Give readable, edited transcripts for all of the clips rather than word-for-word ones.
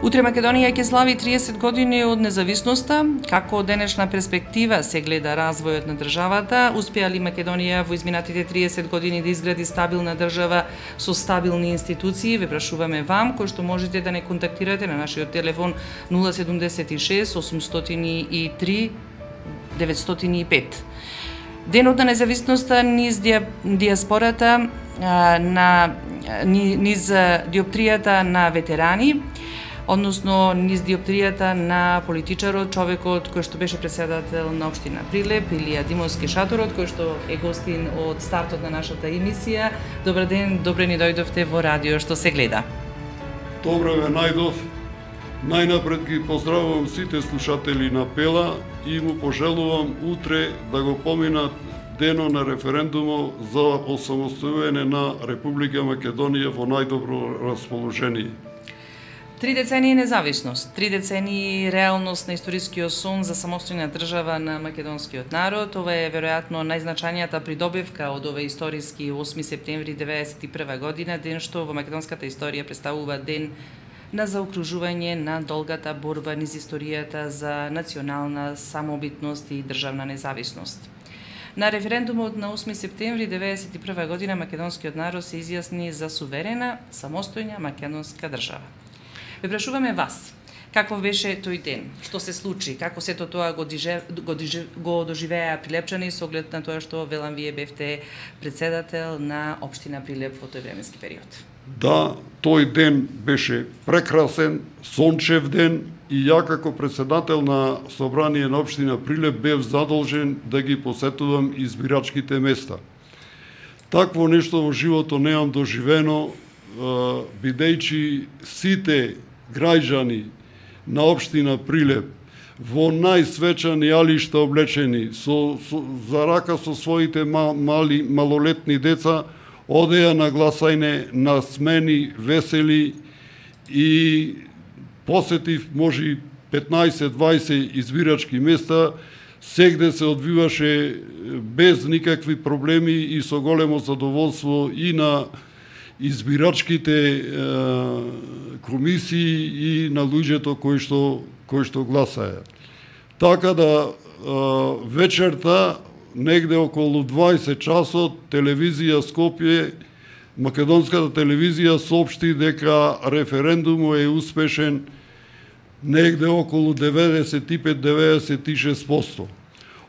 Утре Македонија ќе слави 30 години од независноста. Како од денешна перспектива се гледа развојот на државата? Успеа ли Македонија во изминатите 30 години да изгради стабилна држава со стабилни институции? Ве прашуваме вам, кој што можете да не контактирате на нашиот телефон 076 803 905. Денот на независноста низ диаспората низ диоптријата на ветерани, односно низ диоптријата на политичарот, човекот кој што беше претседател на општина Прилеп, Илија Димовски Шаторот, кој што е гостин од стартот на нашата емисија. Добар ден, добре ни дојдовте во радио што се гледа. Добре ве најдов. Најнапред ги поздравувам сите слушатели на Пела и му пожелувам утре да го поминат денот на референдумот за осамостојување на Република Македонија во најдобро расположение. 3 децении независност, 3 децении реалност на историскиот сон за самостојна држава на македонскиот народ. Ова е веројатно најзначајнијата придобивка од овој историски 8 септември 1991 година, ден што во македонската историја представува ден на заокружување на долгата борба низ историјата за национална самобитност и државна независност. На референдумот на 8 септември 1991 година македонскиот народ се изјасни за суверена, самостојна македонска држава. Ве прашуваме вас, каков беше тој ден, што се случи, како сето тоа го доживеа прилепчани со оглед на тоа што, велам, вие бевте претседател на општина Прилеп во тој временски период. Да, тој ден беше прекрасен, сончев ден и ја како претседател на собрание на општина Прилеп бев задолжен да ги посетувам избирачките места. Такво нешто во животот немам доживено, бидејќи сите граѓани на општина Прилеп во најсвечани алишта облечени за рака со своите малолетни деца одеа на гласање, на смени, весели и посетив може 15-20 избирачки места, сегде се одвиваше без никакви проблеми и со големо задоволство и на избирачките комисии и на луѓето кои што гласаја. Така да вечерта, негде околу 20 часот, телевизија Скопје, македонската телевизија соопшти дека референдумот е успешен негде околу 95-96%.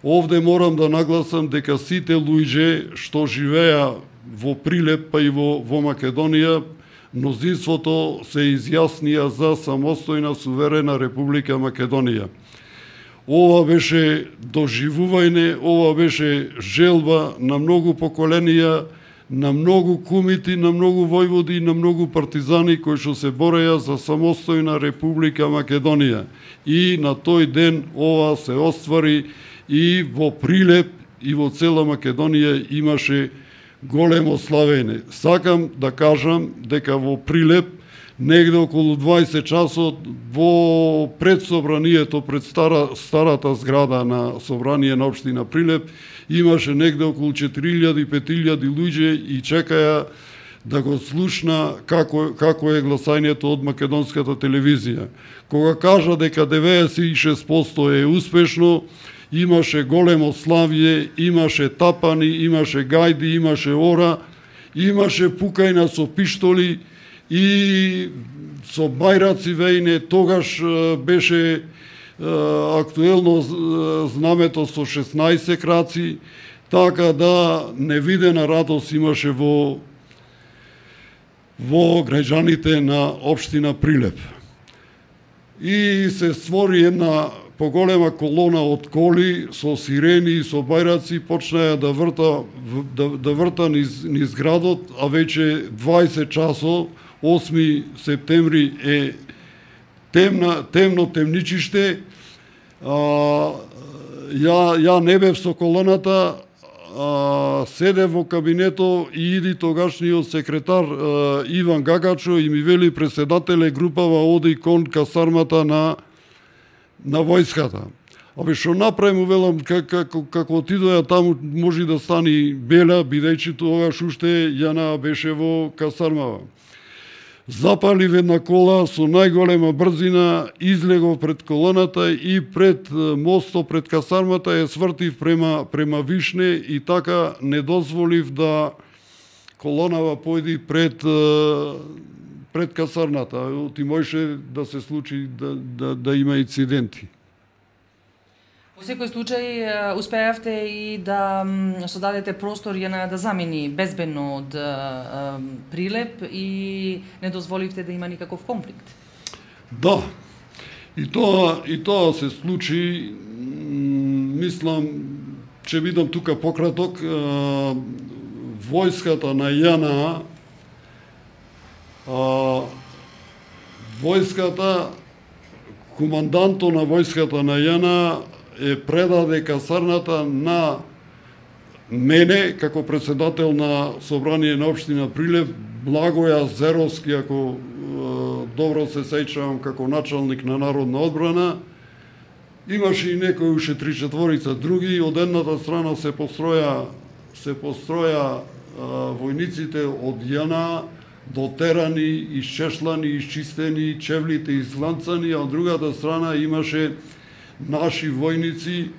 Овде морам да нагласам дека сите луѓе што живеа во Прилеп, па и во Македонија, мнозинството се изјаснија за самостојна суверена Република Македонија. Ова беше доживување, ова беше желба на многу поколенија, на многу кумити, на многу војводи, на многу партизани кои што се бореја за самостојна Република Македонија. И на тој ден ова се оствари и во Прилеп и во цела Македонија имаше големо славење. Сакам да кажам дека во Прилеп, негде околу 20 часот, во предсобранието, пред старата зграда на собрание на општина Прилеп, имаше негде околу 4000-5000 луѓе и чекаја да го слушна како е гласањето од македонската телевизија. Кога кажа дека 96% е успешно, имаше големо славје, имаше тапани, имаше гајди, имаше ора, имаше пукајна со пиштоли и со бајраци вејне. Тогаш беше актуелно знамето со 16 краци, така да невидена радост имаше во граѓаните на општина Прилеп. И се створи една поголема колона од коли со сирени и со бајраци, почнаја да врта низ градот, а веќе 20 часот, 8 септември е темно темничиште. Ја не бев со колоната, седев во кабинето и иди тогашниот секретар Иван Гагачо и ми вели: претседателе, групава оди кон касармата на војската. Абе, што направи, му велам, како отидоја таму, може да стани бела, бидејќи тогаш уште Јана беше во касармава. запалив една кола со најголема брзина, излегов пред колоната и пред мостот, пред касармата ја свртив према Вишне и така не дозволив да колонава појди пред касарната. Ти можеше да се случи да има инциденти. Во секој случај успеавте и да содадете простор ја да замени безбедно од Прилеп и не дозволивте да има никаков конфликт. Да. И тоа се случи, мислам, ќе бидам тука пократок, војската на ЈНА, командантот на војската на ЈНА предаде касарната на мене како председател на собрание на општина Прилеп, Благоја Зеровски, ако добро се сеќавам, како началник на народна одбрана. Имаше и некои уште 3-4 други. Од едната страна се построја војниците од ЈНА, дотерани, исчешлани, исчистени, чевлите изланцани, а од другата страна имаше наши војници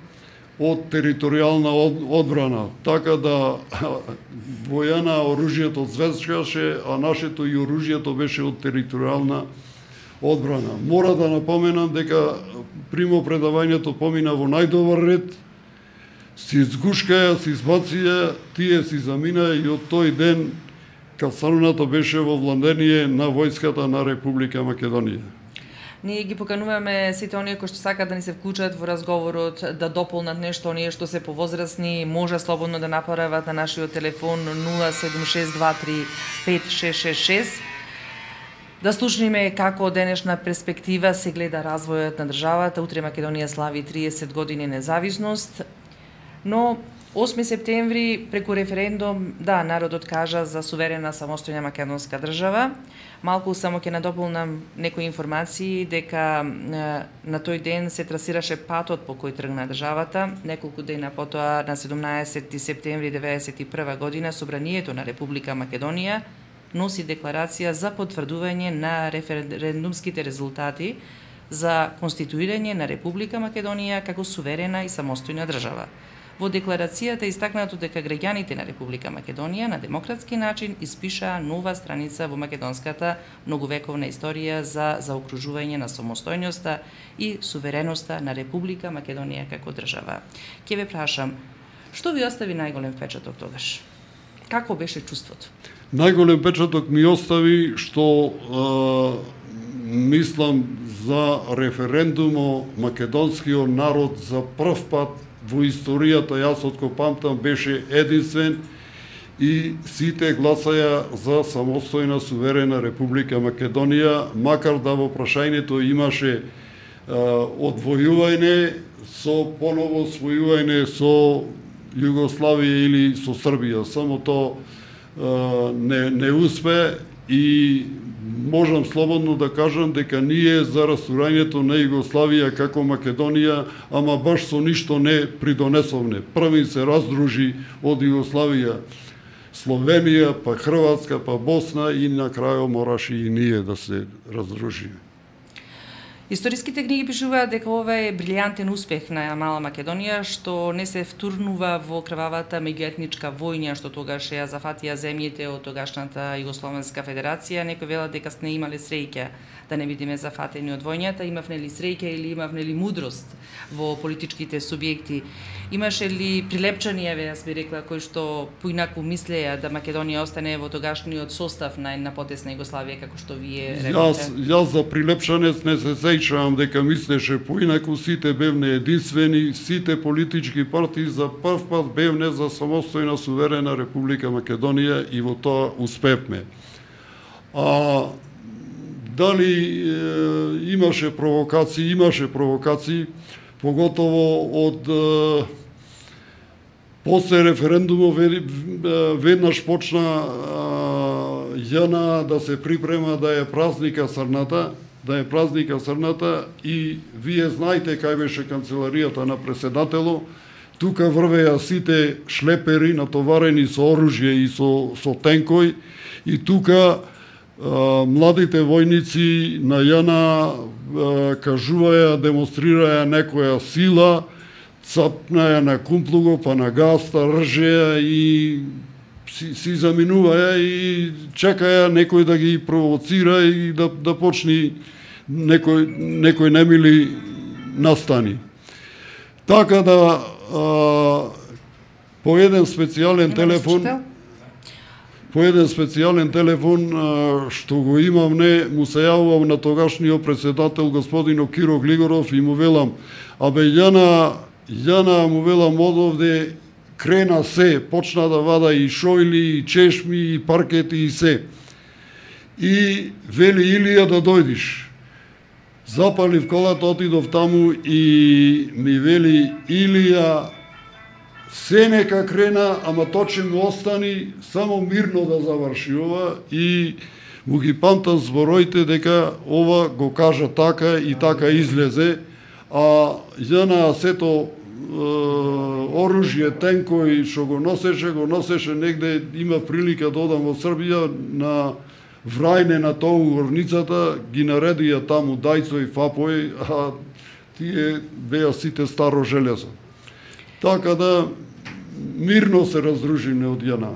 од територијална одбрана. Така да во ЈНА оружјето звезгаше, а нашето и оружјето беше од територијална одбрана. Мора да напоменам дека примопредавањето помина во најдобар ред, си изгушкаја, си избација, тие си замина и од тој ден касарната беше во владение на војската на Република Македонија. Ние ги покануваме сите оние кои што сакаат да ни се вклучат во разговорот, да дополнат нешто, оние што се повозрасни, може слободно да направат на нашиот телефон 076235666. Да слушниме како од денешна перспектива се гледа развојот на државата. Утре Македонија слави 30 години независност, но 8 септември преку референдум, да, народот кажа за суверена самостојна македонска држава. Малку само ќе надополнам некои информации дека на тој ден се трасираше патот по кој тргна државата. Неколку дена потоа, на 17 септември 1991 година, Собранието на Република Македонија носи декларација за потврдување на референдумските резултати за конституирање на Република Македонија како суверена и самостојна држава. Во декларацијата е истакнато дека граѓаните на Република Македонија на демократски начин испишаа нова страница во македонската многовековна историја за заокружување на самостојноста и сувереноста на Република Македонија како држава. Ќе ве прашам, што ви остави најголем впечаток тогаш? Како беше чувството? Најголем впечаток ми остави што мислам за референдумо македонскиот народ за прв пат во историјата, јас откако памтам, беше единствен и сите гласаја за самостојна суверена Република Македонија, макар да во прашањето имаше одвојување со поново својување со Југославија или со Србија. Само тоа не успе и можам слободно да кажам дека ние за растурањето на Југославија како Македонија, ама баш со ништо не придонесовне. Први се раздружи од Југославија Словенија, па Хрватска, па Босна и на крајот мораше и ние да се раздружиме. Историските книги пишуваат дека ова е брилјантен успех на мала Македонија, што не се втурнува во крвавата меѓуетничка војна што тогаш ја зафатија земјите од тогашната Југословенска федерација. Некои велат дека сте имале среќа да не бидеме зафатени од војната. Имавме ли среќа или имавме ли мудрост во политичките субјекти? Имаше ли прилепчани, јас би рекла, кои што поинаку мислеја да Македонија остане во тогашниот состав на потесна Југославија, како што вие рекате? Јас за прилепчанец не се сеќавам дека мислеше поинаку, сите бевне единствени, сите политички партии за прв пат бевне за самостојна суверена Република Македонија и во тоа успевме. Дали имаше провокации, поготово од после референдумот веднаш почна ЈНА да се припрема да е празника Срната, и вие знаете кај беше канцеларијата на преседателот. Тука врвеа сите шлепери натоварени со оружје и со тенкој, и тука младите војници на ЈНА кажуваја, демонстрираја некоја сила, цапнаја на кумплуго, па на гаста, ржеја и си заминуваја и чекаја некој да ги провоцира и да почни некој немили настани. Така да по еден специјален телефон што го имам му се јавувам на тогашниот председател господино Киро Глигоров и му велам, абе ЈНА му велам одовде крена се, почна да вада и шојли, и чешми, и паркети, и се. И вели Илија да дојдиш. Запалив колата, отидов таму и ми вели Илија се нека крена, ама точно му остани, само мирно да заврши ова и му ги памтам збороите дека ова го кажа така и така излезе, а ЈНА сето оружје, тенкови што го носеше негде, има прилика да одам во Србија на Врајне на тоа горницата, ги наредија таму дајцо и фапој, а тие беа сите старо железо. Така да мирно се раздружиме од ЈНА.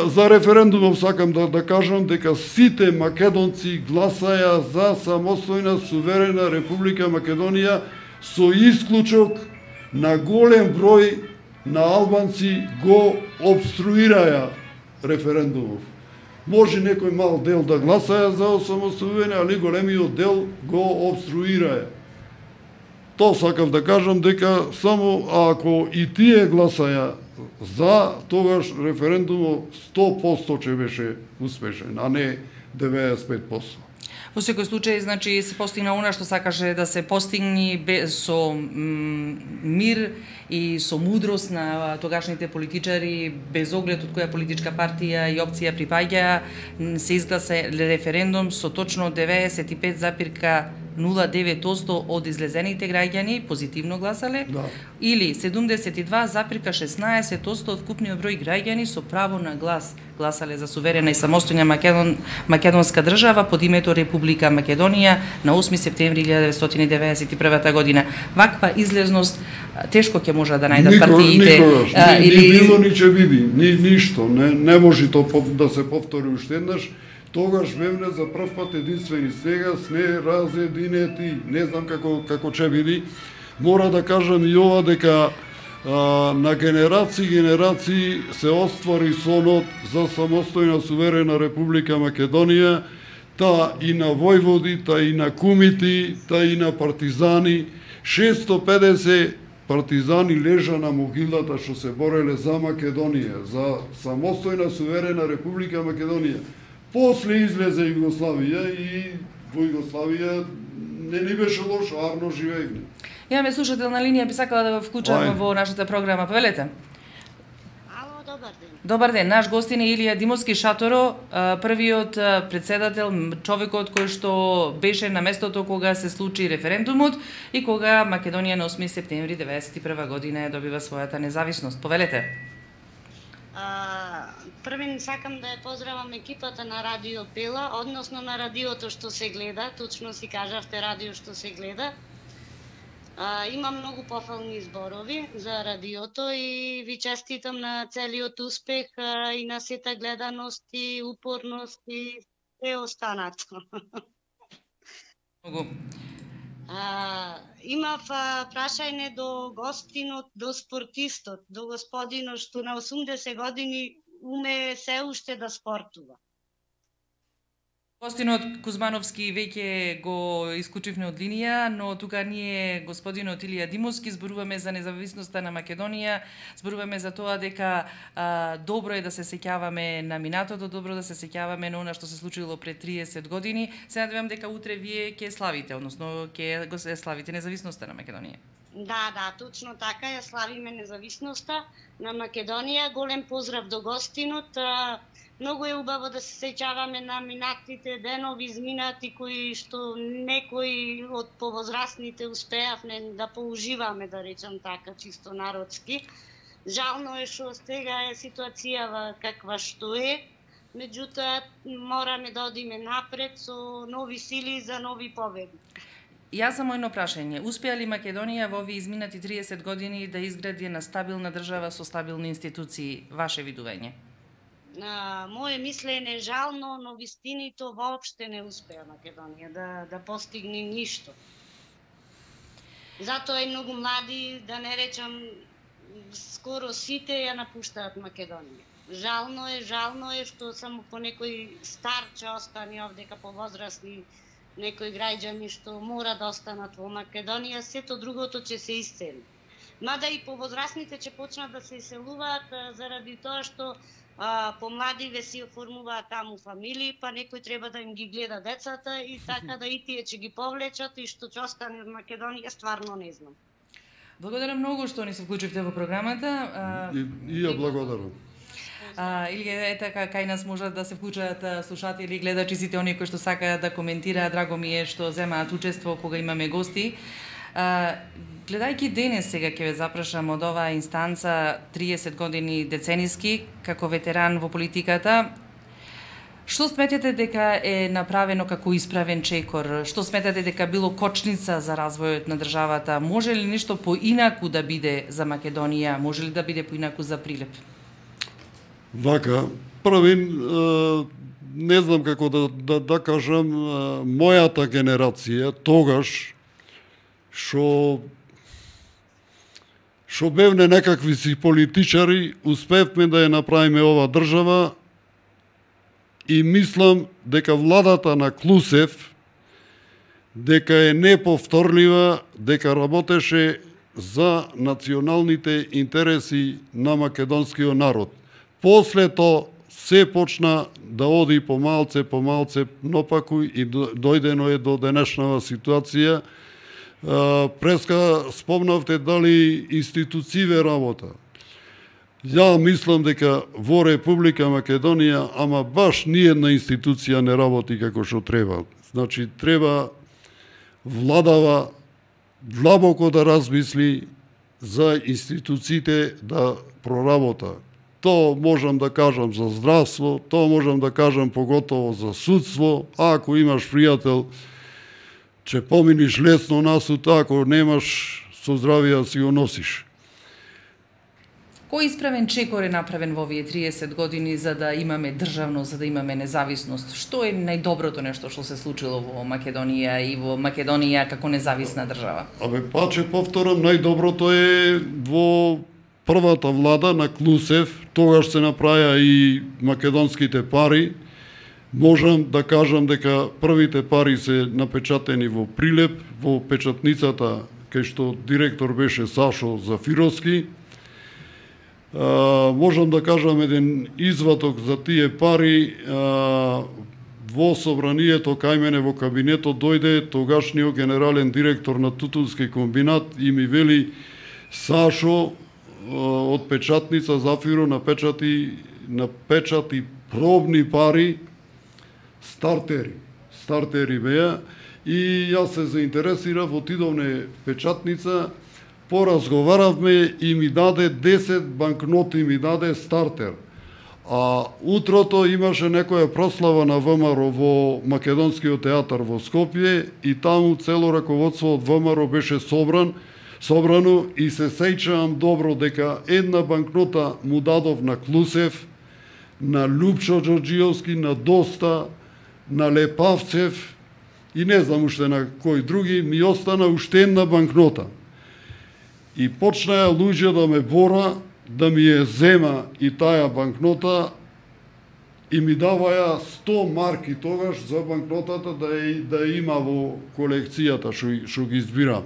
За референдумов сакам да кажам дека сите македонци гласаја за самостојна суверена Република Македонија, со исклучок на голем број на албанци го обструираја референдумов. Може некој мал дел да гласаја за осамостојување, али големиот дел го обструираја. Тоа сакав да кажам дека само ако и тие гласаја за, тогаш референдумот 100% ќе беше успешен, а не 95%. Во секој случај, значи, се постигна она што сакаше да се постигне со мир и со мудрост на тогашните политичари, без оглед од која политичка партија и опција припаѓа, се изгласа референдум со точно 95,09% од излезените граѓани позитивно гласале, или 72,16% од вкупниот број граѓани со право на глас гласале за суверена и самостојна македонска држава под името Република Македонија на 8 септември 1991 година. Ваква излезност тешко ќе може да најдат партиите. Ни било, ни ќе биде, ништо. Не може да се повтори уште еднаш. Тогаш Мемне за прв пат единствени сега сме разединети. Не знам како ќе биде. Мора да кажам и ова дека на генерации се оствари сонот за самостојна суверена Република Македонија, та и на војводи, та и на кумити, та и на партизани. 650 партизани лежа на могилата што се бореле за Македонија, за самостојна суверена Република Македонија. После излезе Југославија и во Југославија не ни беше лошо, арно живеевме. Имаме слушател на линија, би сакала да го вклучам во нашата програма. Повелете. Ало, добар ден. Добар ден. Наш гостин е Илија Димовски Шаторо, првиот председател, човекот кој што беше на местото кога се случи референдумот и кога Македонија на 8 септември 1991 година ја добива својата независност. Повелете. Првен сакам да ја поздравам екипата на Радио Пела, односно на радиото што се гледа, точно си кажавте радио што се гледа. Има многу пофални зборови за радиото и ви честитам на целиот успех и на сета гледаност и упорност и се останато. Многу. Имав прашање до гостинот, до спортистот, до господинот што на 80 години уме се уште да спортува. Гостинот Кузмановски веќе го исклучивме од линија, но тука ние господинот Илија Димовски зборуваме за независноста на Македонија, зборуваме за тоа дека добро е да се сеќаваме на минатото, добро да се сеќаваме на она што се случило пред 30 години. Се надевам дека утре вие ќе славите, односно ќе го славите независноста на Македонија. Да, точно така, ја славиме независноста на Македонија. Голем поздрав до гостинот. Многу е убаво да се сеќаваме на минатите денови изминати кои што некои од повозрастните успеавме да поуживаме, да речам така, чисто народски. Жално е што сега е ситуацијава каква што е. меѓутоа мораме да одиме напред со нови сили за нови победи. Јас само едно прашање. Успеа ли Македонија во овие изминати 30 години да изгради една стабилна држава со стабилни институции? Ваше видување? Моje мислење жално, но вистинито воопште не успеа Македонија да постигне ништо. Затоа и многу млади, да не речам скоро сите ја напуштаат Македонија. Жално е што само по некој стар ќе остане овдека, повозрасни некои граѓани што мора да останат во Македонија, сето другото ќе се исцели. Мада и повозрасните ќе почнат да се иселуваат заради тоа што помладиве си оформуваат таму фамилии, па некој треба да им ги гледа децата и така да и тие ќе ги повлечат и што ќе остане од Македонија, стварно не знам. Благодарам многу што ни се вклучивте во програмата. И ја благодарам. Или така, кај нас можат да се вклучат слушатели и гледачи, сите оние кои што сакаат да коментираат. Драго ми е што земаат учество кога имаме гости. Гледајќи денес, сега ќе ве запрашам од оваа инстанца 30 години децениски, како ветеран во политиката, што сметате дека е направено како исправен чекор? Што сметате дека било кочница за развојот на државата? Може ли нешто поинаку да биде за Македонија? Може ли да биде поинаку за Прилеп? Вака, првин, не знам како да кажам, мојата генерација, тогаш, што бевне некакви си политичари, успевме да ја направиме ова држава и мислам дека владата на Клусев, дека е неповторлива, дека работеше за националните интереси на македонскиот народ. После тоа се почна да оди помалце, напаку и дојдено е до денешнава ситуација. Преска спомнавте дали институције работа. Ја мислам дека во Република Македонија, ама баш ниедна институција не работи како што треба. Значи, треба владава длабоко да размисли за институциите да проработа. Тоа можам да кажам за здравство, тоа можам да кажам поготово за судство. Ако имаш пријател, ќе поминиш лесно на суд, ако немаш, со здравија си го носиш. Кој исправен чекор е направен во овие 30 години за да имаме државност, за да имаме независност? Што е најдоброто нешто што се случило во Македонија и во Македонија како независна држава? Паче повторам, најдоброто е во првата влада на Клусев, тогаш се направија и македонските пари. Можам да кажам дека првите пари се напечатени во Прилеп, во печатницата кај што директор беше Сашо Зафировски. Можам да кажам еден извадок за тие пари. Во собранието кај мене во кабинетот дојде тогашниот генерален директор на Тутунски комбинат и ми вели: Сашо, од печатница Зафиро напечати пробни пари, стартери беа, и јас се заинтересирав, отидовме печатница, поразговаравме и ми даде 10 банкноти, ми даде стартер. А утрото имаше некоја прослава на ВМРО во Македонскиот театар во Скопје и таму цело раководство од ВМРО беше собрано и се сеќавам добро дека една банкнота му дадов на Клусев, на Лупчо Ѓорѓиовски, на Доста, на Лепавцев и не знам уште на кој други, ми остана уште една банкнота. И почнаа луѓе да ме бора, да ми ја зема и таа банкнота и ми даваја 100 марки тогаш за банкнотата да има во колекцијата што ги избира.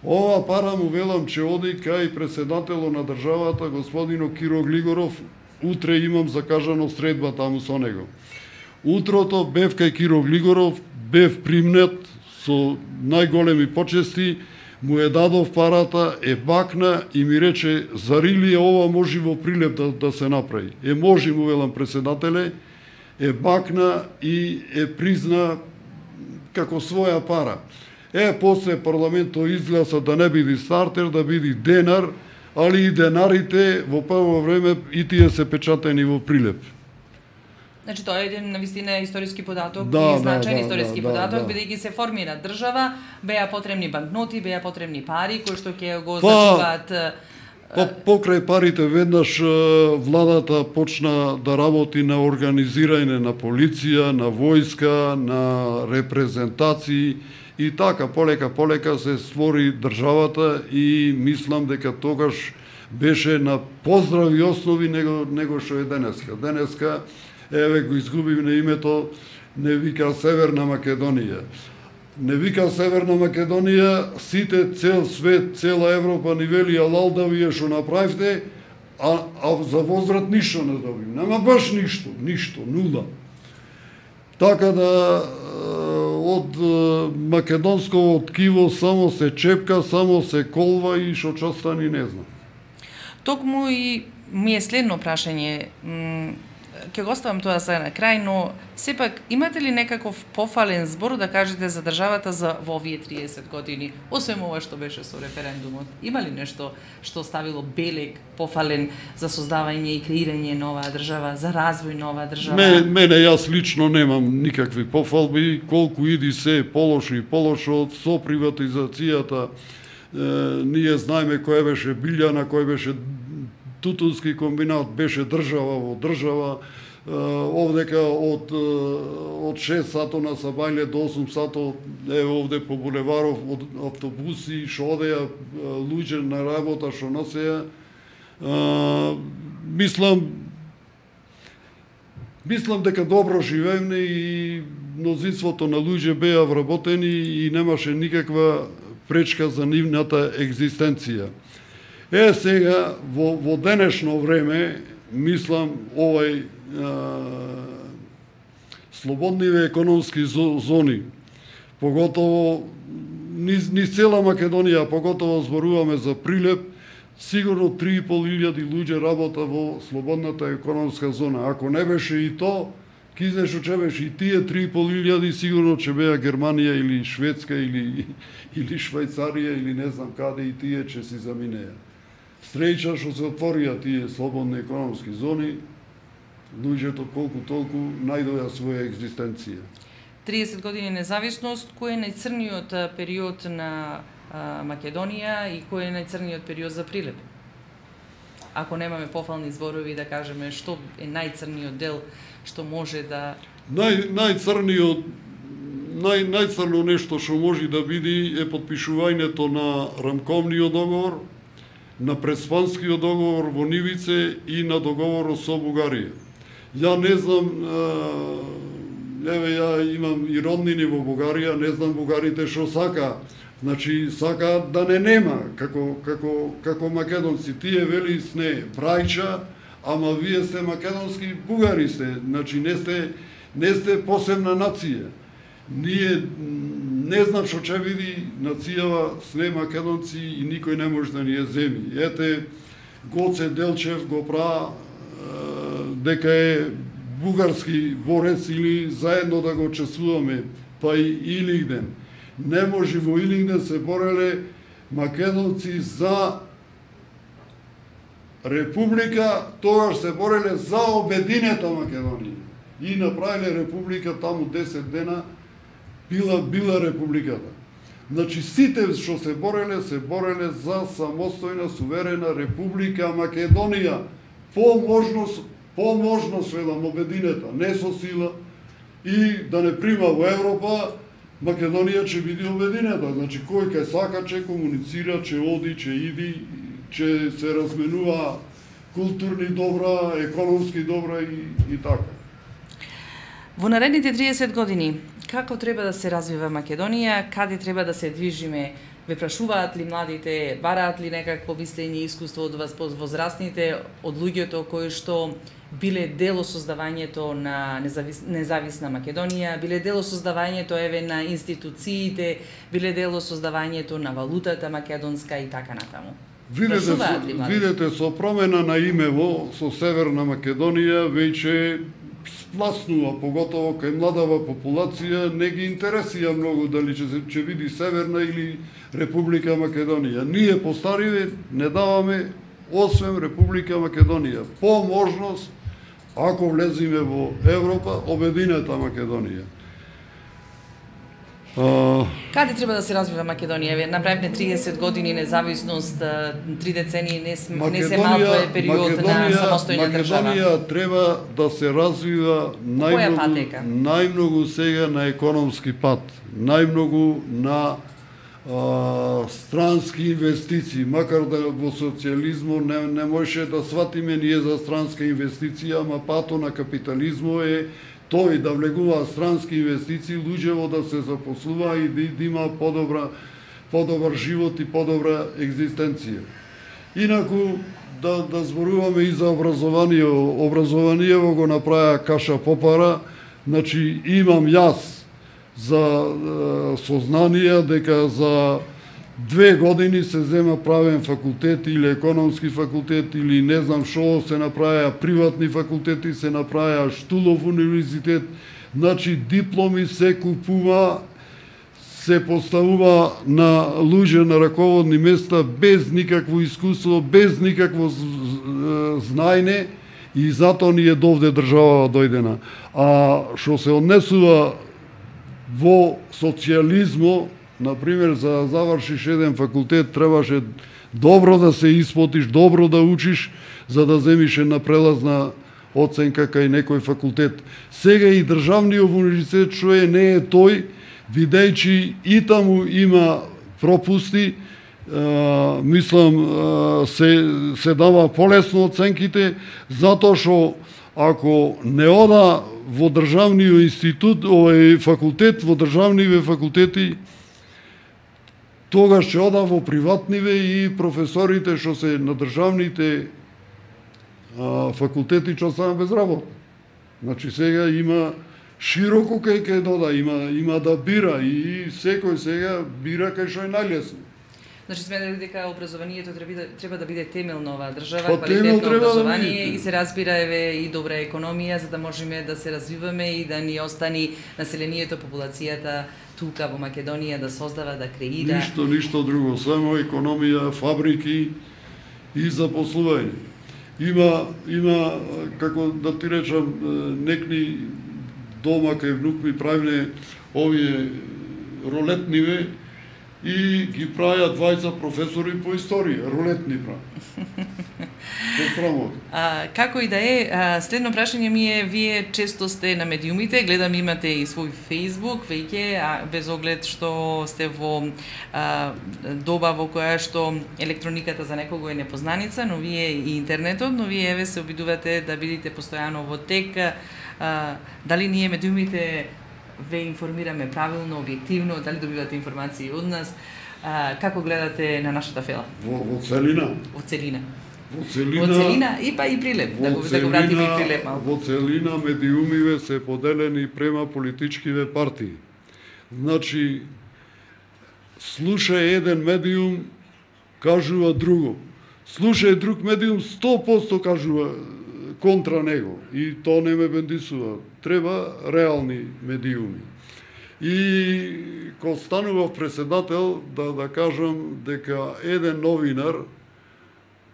Ова пара му велам че оди кај председателот на државата, господино Киро Глигоров, утре имам закажано средба таму со него. Утрото бев кај Киро Глигоров, бев примнет со најголеми почести, му е дадов парата, е бакна и ми рече: зарили е ова може во Прилеп да се направи? Може, му велам председателе, е бакна и е призна како своја пара. После парламентот изгласа да не биде стартер, да биде денар, али и денарите во прво време и тие се печатени во Прилеп. Значи тоа е еден навистина историски податок Да, и значаен историски да, податок, да. бидејќи се формира држава, беа потребни банкноти, беа потребни пари кои што ќе го означуваат. Покрај парите веднаш владата почна да работи на организирање на полиција, на војска, на репрезентации и така полека се створи државата и мислам дека тогаш беше на поздрави основи него што е денеска. Денеска еве го изгубивме името, не вика Северна Македонија. Не вика Северна Македонија, сите, цел свет, цела Европа ни вели алал вие што направивте, а за возврат ништо не добим. Нема баш ништо, нула. Така да од македонско ткиво само се чепка, само се колва и што ќе остани не знам. Токму и ми е следно прашање. Ќе го оставам тоа за на крај, но сепак имате ли некаков пофален збор да кажете за државата за во овие 30 години, освен ова што беше со референдумот? Има ли нешто што ставило белег пофален за создавање и креирање на оваа држава, за развој на оваа држава? Мене јас лично немам никакви пофалби, колку иди се полошо и полошо со приватизацијата. Ние знаеме која беше Билјана, кој беше Тутунски комбинат, беше држава во држава. Овдека од 6 сато на Сабајле до 8 сато овде по булеваров од автобуси што одеа луѓе на работа што носеа. Мислам дека добро живееме и мнозинството на луѓе беа вработени и немаше никаква пречка за нивната екзистенција. Сега, во денешно време, мислам, овај слободниве економски зони, поготово низ цела Македонија, поготово зборуваме за Прилеп, сигурно 3.500 луѓе работа во слободната економска зона. Ако не беше и то, ки знаеш што беше и тие 3.500 сигурно ќе беа Германија или Шведска или Швајцарија или не знам каде и тие ќе си заминеа. Среќа што се отворија тие слободни економски зони, луѓето колку толку најдоа своја екзистенција. 30 години независност, кој е најцрниот период на Македонија и кој е најцрниот период за Прилеп? Ако немаме пофални зборови да кажеме што е најцрниот дел што може да најцрно нешто што може да биде е потпишувањето на рамковниот договор, на преспанскиот договор во Нивице и на договорот со Бугарија. Ја не знам, ја имам и роднини во Бугарија, не знам бугарите што сака. Значи, сака да не нема, како македонци. Тие вели сне брајча, ама вие сте македонски бугари сте. Значи, не сте посебна нација. Ние не знам што ќе види нацијава сне македонци и никој не може да ни ја земи. Ете, Гоце Делчев го пра дека е бугарски борец или заедно да го чествуваме, па и Илинден. Не може во Илинден се бореле македонци за република, тогаш се бореле за обединета Македонија. И направиле република таму 10 дена, била републиката. Значи сите што се бореле за самостојна суверена република Македонија. По можност велам обединета, не со сила и да не прима во Европа, Македонија ќе биде обединета. Значи кој кај сака ќе комуницира, ќе оди, ќе иди, ќе се разменува културни добра, економски добра и така. Во наредните 30 години, како треба да се развива Македонија, каде треба да се движиме? Ве прашуваат ли младите, бараат ли некакво мислење и искуство од вас возрастните, од луѓето кои што биле дел од создавањето на независна Македонија, биле дел од создавањето на институциите, биле дел од создавањето на валутата македонска и така натаму? Видете, со промена на имево со Северна Македонија веќе спласнува, поготово кај младава популација, не ги интересија многу дали ќе види Северна или Република Македонија. Ние постариве не даваме освен Република Македонија. По ако влезиме во Европа, обединета Македонија. Каде треба да се развива Македонија? Вие направивме 30 години независност, 3 децении не се малку е период на самостојна држава. Македонија треба да се развива најмногу сега на економски пат, најмногу на странски инвестиции, макар да во социјализмот не можеше да сватиме ние за странска инвестиција, ама пато на капитализмот е тој да влегува странски инвестиции, луѓево да се запослува и да има подобар живот и подобра екзистенција. Инаку да зборуваме и за образование. Образованиево го направи Каша Попара, значи имам јас за сознание дека за 2 години се зема правен факултет или економски факултет или не знам што, се направија приватни факултети, се направија Штулов универзитет, значи дипломи се купува, се поставува на луѓе на раководни места без никакво искуство, без никакво знаење и затоа ни е довде држава дојдена. А што се однесува во социјализмо, например, за да завршиш еден факултет, требаше добро да се испотиш, добро да учиш, за да земиш една прелазна оценка кај некој факултет. Сега и државниот универзитет што не е тој, видејќи и таму има пропусти, мислам, се дава полесно оценките, затоа што ако не ода во државниот институт, овој факултет, во државниве факултети, тогаш ќе ода во приватниве и професорите што се на државните факултети ќе останат без работа. Значи сега има широко кај дода, има да бира и секој сега бира кај што е најлесно. Значи сметате дека образованието треба да биде темел на оваа држава, квалитетно образование и се разбира и добра економија за да можеме да се развиваме и да ни остани населението, популацијата тука во Македонија да создава, да креира. Ништо друго, само економија, фабрики и запослување. Има како да ти речам, некни дома кај внук ми правиме овие рулетниве и ги правиа двајца професори по историја, рулетни прави. Како и да е, следно прашање ми е, вие често сте на медиумите, гледам имате и свој Facebook веќе, без оглед што сте во доба во која што електрониката за некого е непознаница, но вие и интернетот, но вие еве се обидувате да бидите постојано во тек. Дали ние медиумите ве информираме правилно, објективно, дали добивате информации од нас? Како гледате на нашата фела? Во целина. Во целина. Во целина и па и Прилеп, да го вратиме и Прилеп малку. Во целина медиумиве се поделени према политичкиве партии. Значи, слуша еден медиум, кажува друго. Слуша друг медиум, 100% кажува контра него. И тоа не ме бендисува. Треба реални медиуми. И кога станував председател, да кажам дека еден новинар,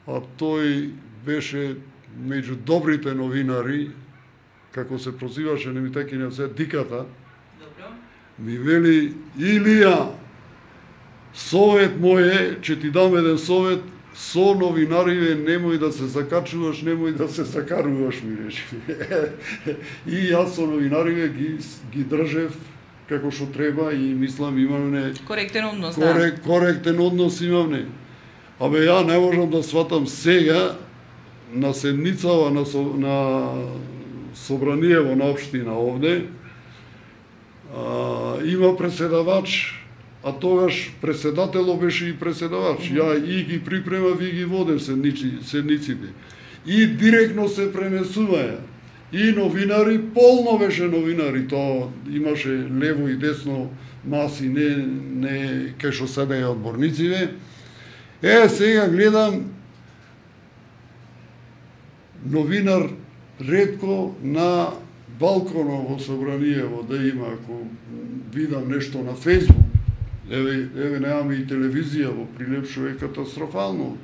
а тој беше меѓу добрите новинари, како се прозиваше, не ми таки не се Диката, ми вели, Илија, совет мој е, ќе ти дам еден совет, со новинариве немој да се закачуваш, немој да се закаруваш, ми рече. И јас со новинариве ги држев како што треба и мислам имаме коректен однос, коректен однос имаме. Абе ја не можам да сватам сега на седницава на собраниево на општина овде има преседавач, а тогаш преседателот беше и преседавач. Ја и ги припремав и ги водев седниците. И директно се пренесуваја. И новинари, полно беше новинари, тоа имаше лево и десно маси, не кај што седеја одборнициве. Сега гледам новинар ретко на балконот во собраниево да има, ако видам нешто на Фејсбук. Еве немаме и телевизија во Прилеп, што е катастрофално.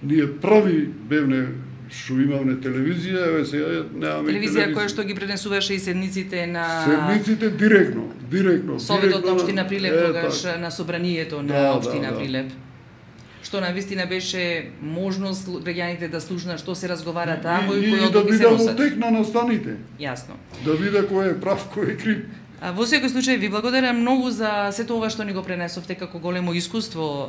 Ние први бевне што имавме телевизија, еве сега немаме телевизија која што ги пренесуваше и седниците на седниците директно. Советот на општина Прилеп тогаш на собранието на општина Прилеп. Што навистина беше можност граѓаните да слушнат што се разговара таму и кои одлуки се носат. И да видат тек на настаните. Јасно. Да видат кој е прав, кој е крив. Во секој случај ви благодарам многу за сето ова што ни го пренесовте како големо искуство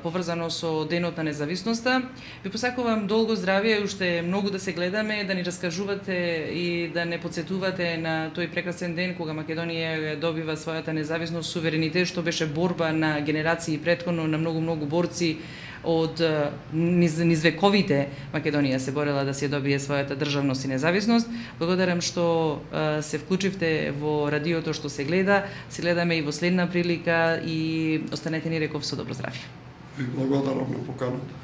поврзано со Денот на независноста. Ви посакувам долго здравје и уште многу да се гледаме, да ни раскажувате и да не потсетувате на тој прекрасен ден кога Македонија добива својата независност, суверенитет, што беше борба на генерации претходно на многу борци од низ вековите. Македонија се борела да се добие својата државност и независност. Благодарам што се вклучивте во радиото што се гледа. Се гледаме и во следна прилика и останете ни реков со добро здравје. Ви благодарам на поканата.